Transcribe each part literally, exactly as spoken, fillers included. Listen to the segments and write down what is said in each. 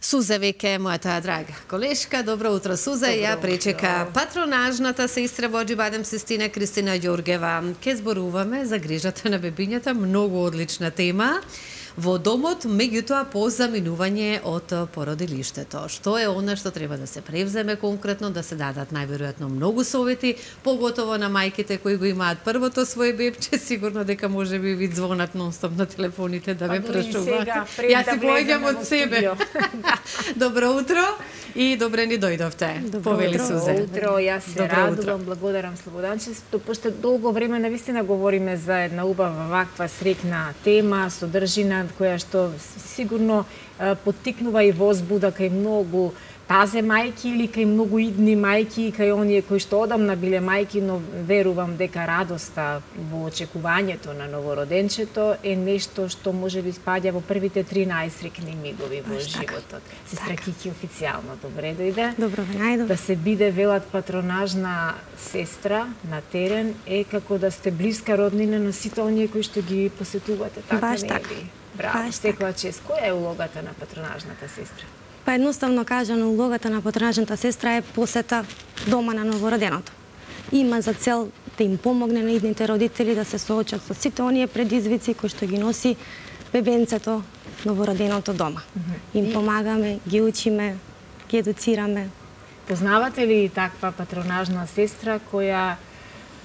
Сузе веќе мојата драга колешка. Добро утро, Сузе. Ја пречека патронажната сестра во Аџибадем Систина Кристина Ѓоргева. Ке зборуваме за грижата на бебињата, многу одлична тема во домот, меѓутоа по заминување од породилиштето. Што е она што треба да се превземе конкретно, да се дадат најверојатно многу совети, поготово на мајките кои го имаат првото своје бебче, сигурно дека може би ви звонат нонстоп на телефоните да ме прашуваат. Јас си поаѓам од себе. Добро утро и добре ни дојдовте. Повели Сузе. Добро утро, јас се радувам, благодарам Слободанчето, пошто долго време навистина говориме за една убава ваква среќна тема, содржина која што сигурно поттикнува и возбуда кај многу тазе мајки или кај многу идни мајки и кај оние кои што одамна биле мајки, но верувам дека радоста во очекувањето на новороденчето е нешто што може би спаѓа во првите три најсреќни мигови во животот. Сестра Кики официјално добре дојде. Добро ве најдов. Да се биде велат патронажна сестра на терен е како да сте блиска роднина на сите оние кои што ги посетувате, така Баш не така. ли? Браво, секоја чест. Која е улогата на патронажната сестра? Па едноставно кажано, улогата на патронажната сестра е посета дома на новороденото. Има за цел да им помогне на идните родители да се соочат со сите оние предизвици кои што ги носи бебенцето, новороденото дома. Mm-hmm. Им помагаме, ги учиме, ги едуцираме. Познавате ли таква патронажна сестра која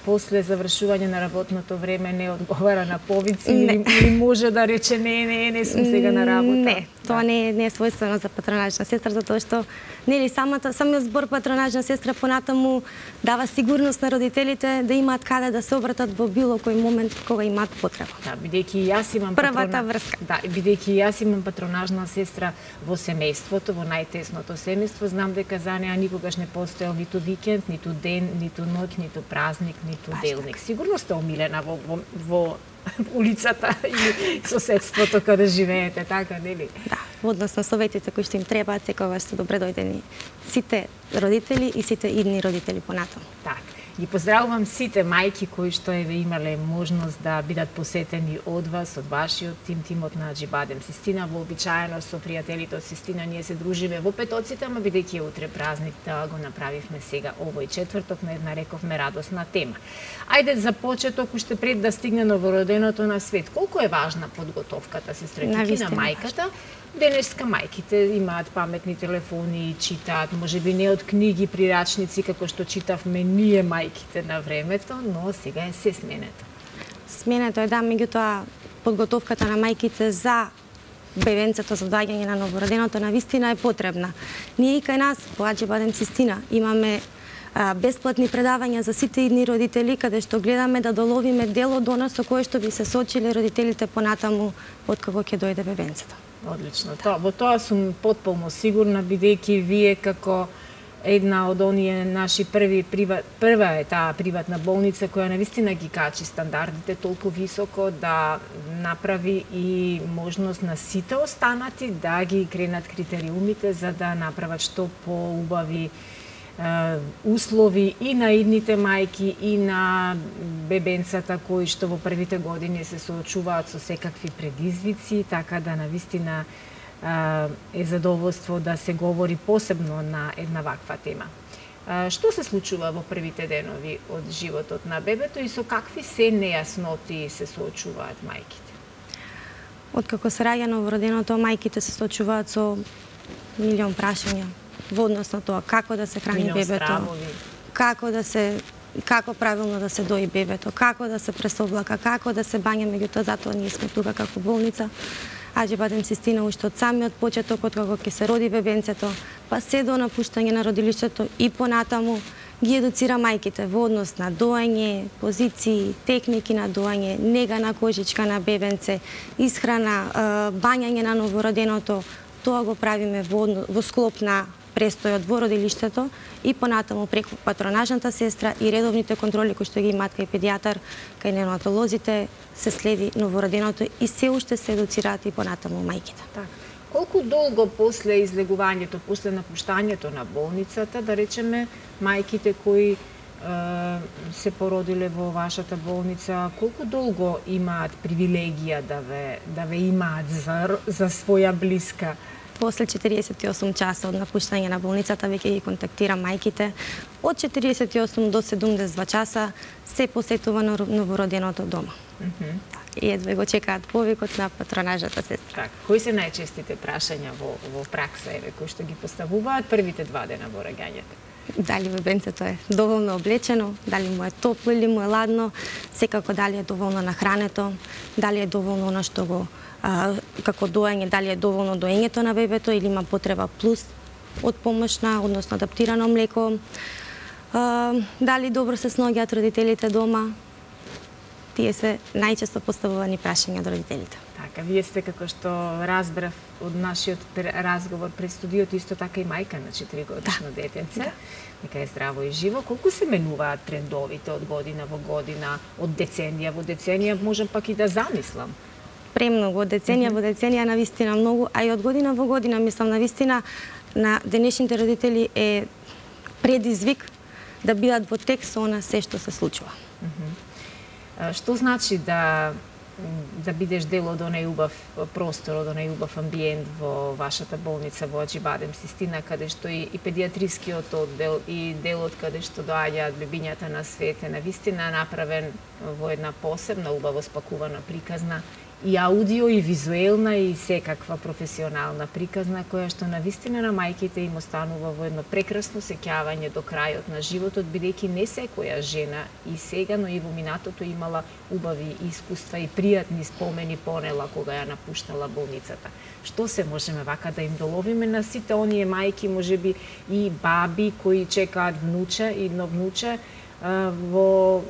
после завршување на работното време не одговара на повици или, или може да рече не, не, не сум сега на работа? Не, тоа не е, не е својствено за патронажна сестра, затоа што нели самата самиот збор патронажна сестра понатаму дава сигурност на родителите да имаат каде да се обратат во било кој момент кога имаат потреба. Да, бидејќи јас имам првата патрона... врска. Да, бидејќи јас имам патронажна сестра во семејството, во најтесното семејство, знам дека за неа никогаш не постоел ниту викенд, ниту ден, ниту ноќ, ниту празник, ниту делник. Сигурно сте омилена во, во, во улицата и соседството каде живеете, така, нели? Да, во однос на советите кои што им требаат, секогаш се добре дојдени сите родители и сите идни родители понатаму. Так. Ги поздравувам сите мајки кои што еве имале можност да бидат посетени од вас, од вашиот тим, тимот на Аџибадем Систина. Вообичаено со пријателите од Систина ние се дружиме во петоците, ама бидејќи е утре празник, да го направивме сега овој четврток на една, рековме, радосна тема. Ајде за почеток, уште пред да стигне новороденото на свет. Колку е важна подготовката, сестра Кики, на мајката? Денеска мајките имаат паметни телефони, читаат, може би не од книги, прирачници, како што читавме ние мајките на времето, но сега е се сменето. Сменето е, да, меѓутоа подготовката на мајките за бебенцето, за доаѓање на новороденото навистина е потребна. Ние и кај нас, по Аџибадем Систина, имаме а, бесплатни предавања за сите идни родители, каде што гледаме да доловиме дел од она со кое што би се соочили родителите понатаму откако ќе дојде бебенцето. Одлично. Тоа, во тоа сум потполно сигурна, бидејќи вие како една од оние наши први приват, прва е таа приватна болница која навистина ги качи стандардите толку високо да направи и можност на сите останати да ги кренат критериумите за да направат што поубави услови и на идните мајки и на бебенцата кои што во првите години се соочуваат со секакви предизвици, така да навистина е задоволство да се говори посебно на една ваква тема. Што се случува во првите денови од животот на бебето и со какви се нејасноти се соочуваат мајките? Откако се раѓа новороденото, мајките се соочуваат со милион прашања во однос на тоа како да се храни милион бебето, стравови. како да се како правилно да се дои бебето, како да се пресоблака, како да се бања, меѓутоа затоа ние сме тука како болница. Аџибадем Систина уште од самиот почеток, од кога ќе се роди бебенцето, па се до напуштање на родилиштето и понатаму ги едуцира мајките во однос на доање, позиции, техники на доање, нега на кожичка на бебенце, исхрана, бањање на новороденото. Тоа го правиме во, во склоп на престојот во родилиштето и понатаму преку патронажната сестра и редовните контроли кои што ги имаат кај педијатар, кај неонатолозите, се следи новороденото и се уште се едуцираат и понатаму мајките. Так. Колку долго после излегувањето, после напуштањето на болницата, да речеме, мајките кои е, се породиле во вашата болница, колку долго имаат привилегија да ве, да ве имаат за, за своја блиска После четириесет и осум часа од напуштање на болницата веќе ги контактира мајките. Од четириесет и осум до седумдесет и два часа се посетува новороденото дома. Mm -hmm. И едва го чекаат повикот на патронажната сестра. Так, кои се најчестите прашања во, во пракса, еве, кои што ги поставуваат првите два дена во раѓањето? Дали бебенцето е доволно облечено, дали му е топло или му е ладно, секако дали е доволно нахрането, дали е доволно она што го а, како доење, дали е доволно доењето на бебето или има потреба плюс од помошна, односно адаптирано млеко, а, дали добро се сноѓаат родителите дома. Тие се најчесто поставувани прашања од родителите. Така, вие сте, како што разбрав од нашиот разговор пред студиото, исто така и мајка на четиригодишно да. детенце, да. Нека е здраво и живо. Колку се менуваат трендовите од година во година, од деценија во деценија, можам пак и да замислам? Премногу, од деценија во деценија, навистина многу, а и од година во година, мислам, навистина на денешните родители е предизвик да бидат во текст со она се што се случува. Mm -hmm. Што значи да да бидеш дел од онај убав простор, од онај убав амбиент во вашата болница во Аџибадем Систина, каде што и, и педиатрискиот оддел и делот каде што доаѓаат бебињата на свет е навистина направен во една посебна, убаво спакувана приказна, и аудио, и визуелна, и секаква професионална приказна, која што навистина на мајките им останува во едно прекрасно сеќавање до крајот на животот, бидејќи не секоја жена и сега, но и во минатото имала убави искуства и пријатни спомени понела кога ја напуштала болницата. Што се можеме вака да им доловиме на сите оние мајки, можеби и баби кои чекаат внуче, идно внуче, во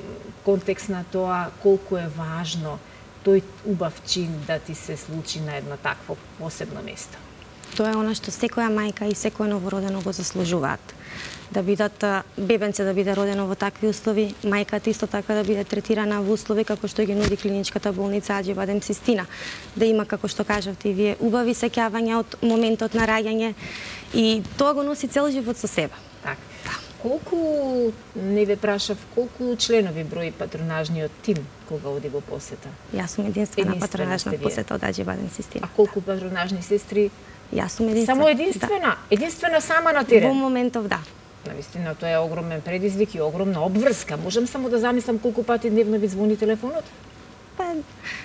контекст на тоа колку е важно тој убав чин да ти се случи на едно такво посебно место? Тоа е она што секоја мајка и секој новородено го заслужуваат. Да бидат бебенце да биде родено во такви услови, мајката исто така да биде третирана во услови како што ги нуди клиничката болница Аџибадем Систина. Да има, како што кажавте и вие, убави сеќавања од моментот на раѓање и тоа го носи цел живот со себе. Так. Колку, не ве прашав, колку членови брои патронажниот тим кога оди во посета? Јас сум единствена патронажна посета од Аџибадем Систина. А колку патронажни сестри? Јас сум единствена. Само единствена? Да. Единствена сама на терен? Во моментов, да. Навистина, тоа е огромен предизвик и огромна обврска. Можам само да замислам колку пати дневно ви звони телефонот? Па,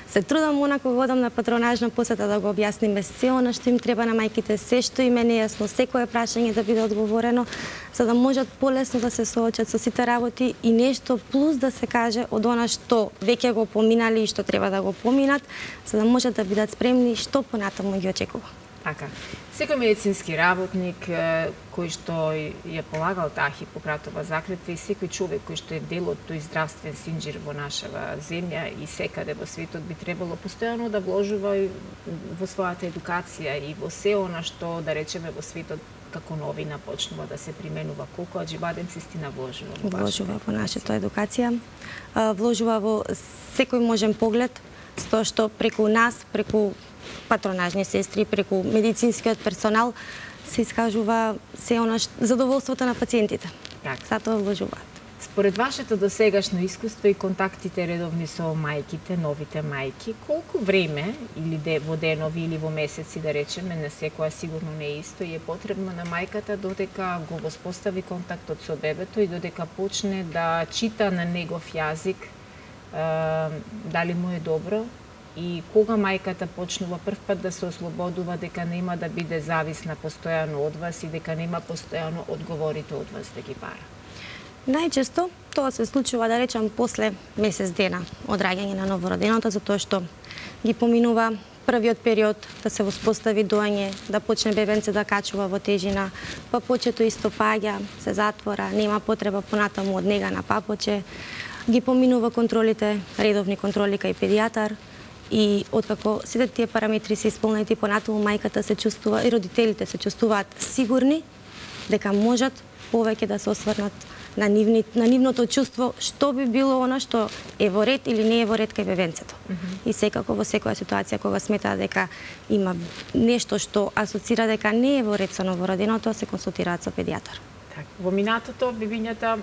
се трудам онако годам на патронажна посета да го објасниме се она што им треба на мајките, се што им е нејасно, секое прашање да биде одговорено, за да можат полесно да се соочат со сите работи и нешто плюс да се каже од она што веќе го поминали и што треба да го поминат, за да можат да бидат спремни што понатаму ги очекува. Така. Секој медицински работник кој што ја полагал таа Хипократова заклетва и секој човек кој што е дел од тој здравствен синџир во нашава земја и секаде во светот би требало постојано да вложува во својата едукација и во се она што, да речеме, во светот како новина почнува да се применува. Колку Аџибадем Систина вложува во вложува во нашата едукација, вложува во секој можен поглед, тоа што преку нас, преку патронажни сестри, преку медицинскиот персонал се искажува се она задоволството на пациентите. Така. Затоа вложуваат. Според вашето досегашно искуство и контактите редовни со мајките, новите мајки, колку време или де, во денови или во месеци, да речеме, на секоја сигурно не е исто, и е потребно на мајката додека го воспостави контактот со бебето и додека почне да чита на негов јазик, дали му е добро, и кога мајката почнува прв пат да се ослободува дека нема да биде зависна постојано од вас и дека нема постојано одговорите од вас да ги бара? Најчесто тоа се случува, да речам, после месец дена од раѓање на новороденото, затоа што ги поминува првиот период да се воспостави доање, да почне бебенце да качува во тежина, папочето исто паѓа, се затвора, нема потреба понатаму од нега на папоче, ги поминува контролите, редовни контроли кај педијатар, и откако сите тие параметри се исполнети, понатаму мајката се чувствува и родителите се чувствуваат сигурни дека можат повеќе да се осврнат на, нивни, на нивното чувство што би било она што е во ред или не е во ред кај бебенцето. Mm -hmm. И секако во секоја ситуација кога смета дека има нешто што асоцира дека не е во ред со новороденото, се консултираат со педијатар. Так, во минатото бебињата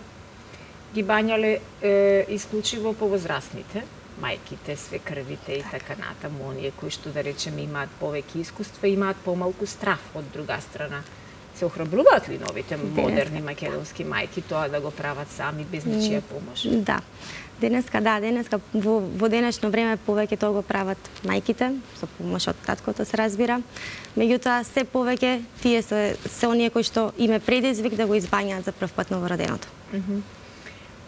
ги бањале е, исклучиво повозрастните. мајките, свекрвите и така натаму, оние кои што да речеме имаат повеќе искуства, имаат помалку страф од друга страна. Се охрабруваат ли новите модерни македонски мајки тоа да го прават сами без ничија помош? Да. Денеска, да, денеска во, во денешно време повеќе тоа го прават мајките, со помош од таткото се разбира. Меѓутоа, се повеќе тие се, се оние кои што име предизвик да го избањаат за прв пат новороденото. Mm -hmm.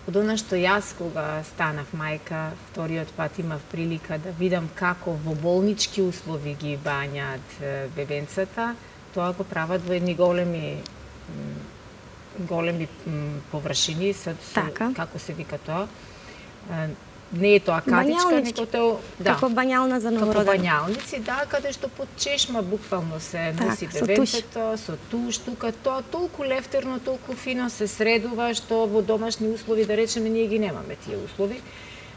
Од она што јас кога станав мајка, вториот пат имав прилика да видам како во болнички услови ги бањаат бебенцата, тоа го прават во едни големи големи површини, со, така. Како се вика тоа? Не е тоа катичка, него тоа, да, како бањална за новородено. Како бањалници, да, каде што под чешма буквално се носи так, бебенцето, со туш, тука тоа толку лефтерно, толку фино се средува што во домашни услови, да речеме, ние ги немаме тие услови.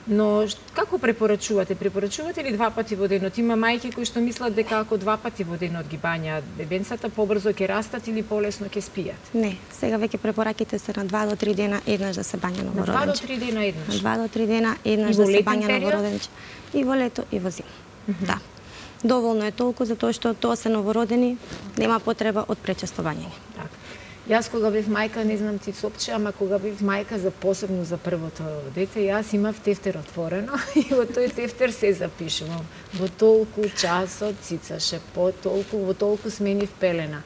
Но како препорачувате? Препорачувате ли два пати во денот? Има мајки кои што мислат дека ако два пати во денот ги бањаат бебенцата, побрзо ќе растат или полесно ќе спијат? Не, сега веќе препораките се на два до три дена еднаш да се бања новороденче. На два до три дена еднаш? На два до три дена еднаш да се бања новороденче. И во лето и во зима. Mm -hmm. Да. Доволно е толку затоа што тоа се новородени, нема потреба од пречесто бањање. Така. Јас кога бев мајка, не знам ти сопче, ама кога бев мајка за посебно за првото дете, јас имав тефтер отворено и во тој тефтер се запишувам. Во толку часот цицаше, по толку, во толку сменив пелена.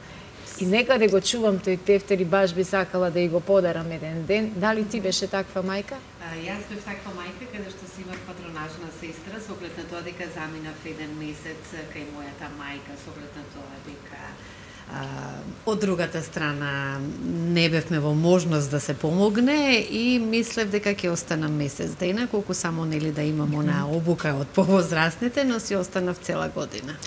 И некаде го чувам тој тефтер и баш би сакала да и го подарам еден ден. Дали ти беше таква мајка? А, јас бев таква мајка каде што си имав патронажна сестра, со оглед на тоа дека заминав еден месец кај мојата мајка, со оглед на тоа дека А, од другата страна не бевме во можност да се помогне и мислев дека ќе останам месец дена, колку само нели да имам она обука од повозрастните, но си останав цела година.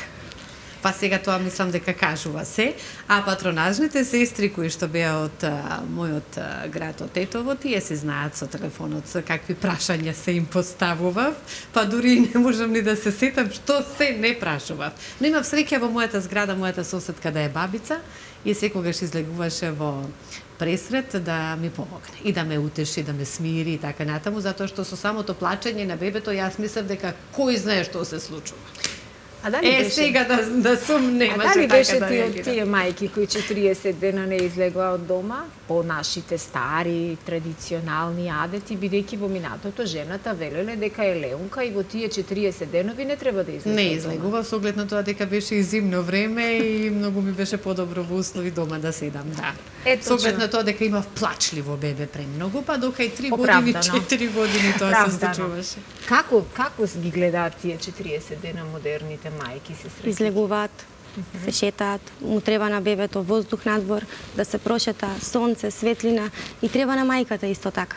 Па сега тоа мислам дека кажува се, а патронажните сестри кои што беа од а, мојот а, град, од Тетово, тие се знаат со телефонот со какви прашања се им поставував, па дури не можам ни да се сетам што се не прашував. Но имав среќа во мојата зграда, мојата соседка да е бабица и секогаш излегуваше во пресрет да ми помогне и да ме утеши, да ме смири и така натаму, затоа што со самото плачење на бебето јас мислев дека кој знае што се случува. А дали е, беше... сега да, да сум немаше така да беше да тие, тие мајки кои четириесет дена не излегоа од дома по нашите стари традиционални адети, бидејќи во минатото жената велеле дека е леунка и во тие четириесет денови не треба да излегува. Не излегува со оглед на тоа дека беше и зимно време и многу ми беше подобро во услови дома да седам, да. Ето, со оглед на тоа дека имав плачливо бебе премногу, па дока и три години, четири години тоа се случуваше. Како како ги гледаат тие четириесет дена модерните мајки се среќа? Излегуваат, се шетаат, му треба на бебето воздух надвор, да се прошета, сонце, светлина и треба на мајката исто така.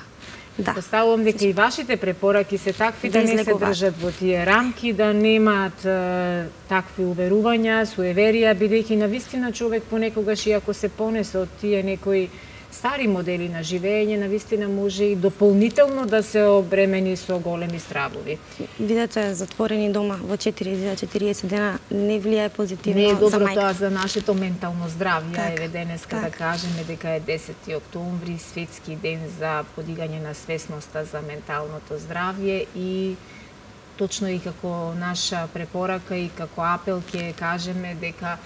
Да. Поставувам дека и вашите препораки се такви да, да не се држат во тие рамки, да немаат е, такви уверувања, суеверија, бидејќи навистина човек понекогаш и ако се понесе од тие некои стари модели на живење, навистина може и дополнително да се обремени со големи стравови. Видете, затворени дома во четири до четириесет дена не влијае позитивно за мајка. Не е добро за тоа за нашето ментално здравје. Так, еве денеска так. да кажеме дека е десети октомври, светски ден за подигање на свесноста за менталното здравје и точно и како наша препорака и како апел ќе кажеме дека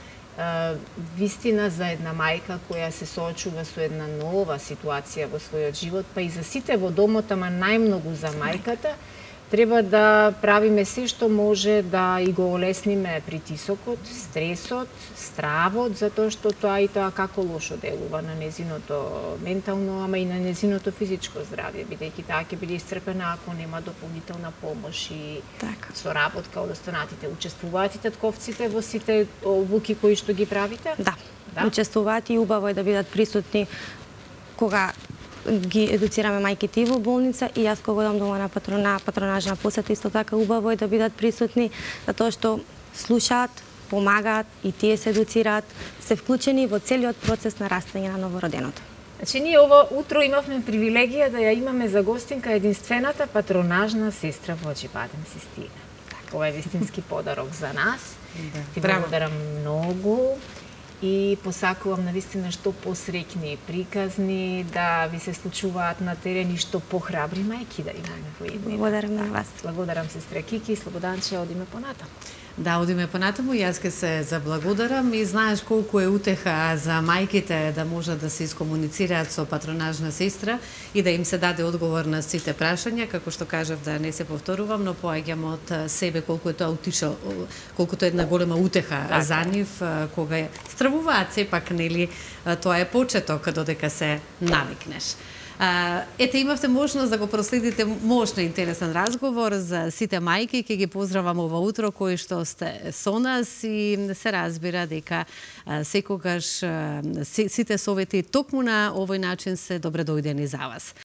вистина за една мајка која се соочува со една нова ситуација во својот живот, па и за сите во домот, ама најмногу за мајката, треба да правиме се што може да и го олесниме притисокот, стресот, стравот, затоа што тоа и тоа како лошо делува на незиното ментално, ама и на незиното физичко здравје, бидејќи таа ќе биде исцрпена ако нема дополнителна помош и така. Соработка од останатите. Учествуваат и татковците во сите обуки кои што ги правите? Да, да? Учествуваат и убаво е да бидат присутни кога ги едуцираме мајките и во болница и јас кога одам дома на патрона, патронажна посета исто така убаво е да бидат присутни затоа што слушаат, помагаат и тие се едуцираат, се вклучени во целиот процес на растење на новороденото. Значи ние ова утро имавме привилегија да ја имаме за гостинка единствената патронажна сестра во Аџибадем Систина. Ова е вистински подарок за нас. Да. Ти благодарам многу. и посакувам навистина што посреќни приказни, да ви се случуваат на терен и што похрабри мајки да имаме во иднина. Благодарам на вас. Благодарам сестра Кики, Слободанче, одиме понатаму. Да, одиме понатаму, јас ке се заблагодарам и знаеш колку е утеха за мајките да можат да се искомуницираат со патронажна сестра и да им се даде одговор на сите прашања, како што кажав да не се повторувам, но поаѓам од себе колку е тоа утиша, колку тоа е една голема утеха така за нив, кога стравуваат сепак, нели, тоа е почеток додека се навикнеш. Ете, имавте можност да го проследите мощно интересен разговор за сите мајки. Ќе ги поздравам ова утро кои што сте со нас и се разбира дека секогаш сите совети токму на овој начин се добре дојдени за вас.